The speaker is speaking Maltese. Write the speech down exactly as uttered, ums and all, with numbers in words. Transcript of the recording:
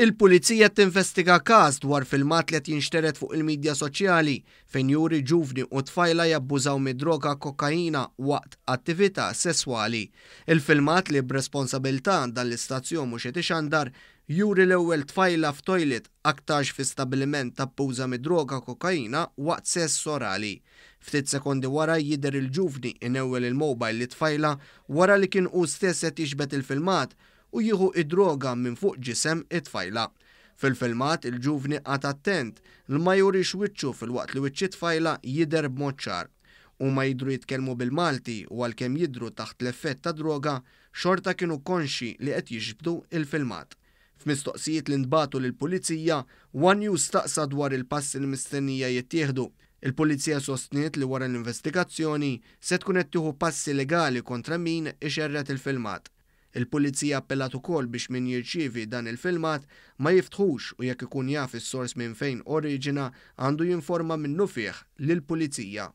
Il-Pulizija tinvestiga każ dwar filmat li qed jinxtered fuq il-midja soċjali fejn juri ġuvni u tfajla jabbużaw mid-droga kokaina waqt attività sesswali. Il-filmat, li b'responsabilità dan l-istazzjon mhux qed ixandar, juri l-ewwel tfajla f'toilet aktarx fi stabiliment tabbuża mid-droga kokaina waqt sess orali. Ftit sekondi wara jidher il-ġuvni inewwel il-mobile lit-tfajla wara li kien hu stess qed jiġbed il-filmat u jieħu id-droga minn fuq ġisem it-tfajla. Fil-filmat, il-ġuvni qagħad attent li ma jurix wiċċu, filwaqt li wiċċ it-tfajla jidher b'mod ċar. Huma jidhru jitkellmu bil-Malti u għalkemm jidhru taħt l-effett ta' droga, xorta kienu konxi li qed jiġbdu il-filmat. F'mistoqsijiet li ntbagħtu lill-Pulizija, One News staqsa dwar il-passi li mistennija jittieħdu. Il-Pulizija sostniet li wara l-investigazzjoni se tkun qed tieħu passi legali kontra min ixerred il-filmat. Il-Pulizija appellat ukoll biex min jirċievi dan il-filmat ma jiftħux u jekk ikun jaf is-sors minn fejn oriġina, għandu jinforma minnufih lill-Pulizija.